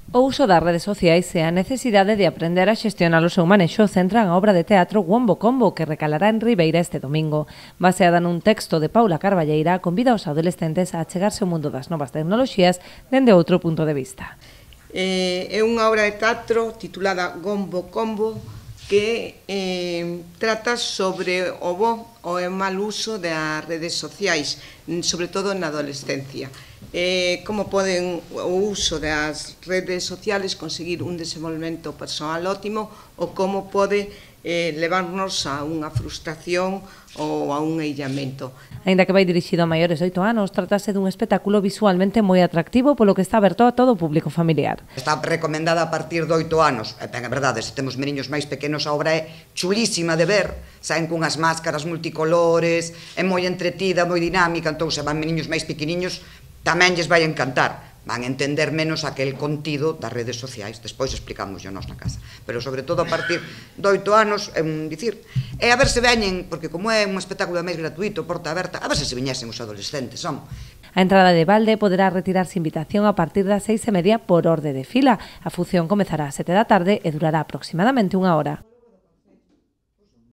O uso das redes sociais e a necesidade de aprender a xestionar o seu manexo centran a obra de teatro Wombo Combo, que recalará en Ribeira este domingo. Baseada nun texto de Paula Carballeira, convida aos adolescentes a achegarse ao mundo das novas tecnoloxías dende outro punto de vista. É unha obra de teatro titulada Wombo Combo que trata sobre o bo ou o mal uso das redes sociais, sobre todo na adolescencia. Como poden o uso das redes sociales conseguir un desenvolvemento persoal óptimo ou como pode levarnos a unha frustración ou a un illamento. Aínda que vai dirixido a maiores de 8 anos, tratase dun espectáculo visualmente moi atractivo, polo que está aberto a todo o público familiar. Está recomendada a partir de 8 anos. Ben, é verdade, se temos meniños máis pequenos, a obra é chulísima de ver, saen cunhas máscaras multicolores, é moi entretida, moi dinámica, entón se van meniños máis pequeniños, tamén lles vai encantar. Van entender menos aquel contido das redes sociais, despois explicámoslo nós na casa. Pero sobre todo a partir de 8 anos, a ver se veñen, porque como é un espectáculo máis gratuito, porta aberta, a ver se viñesen os adolescentes, son. A entrada de balde poderá retirarse invitación a partir das 6:30 por orde de fila. A función comezará ás 7 da tarde e durará aproximadamente 1 hora.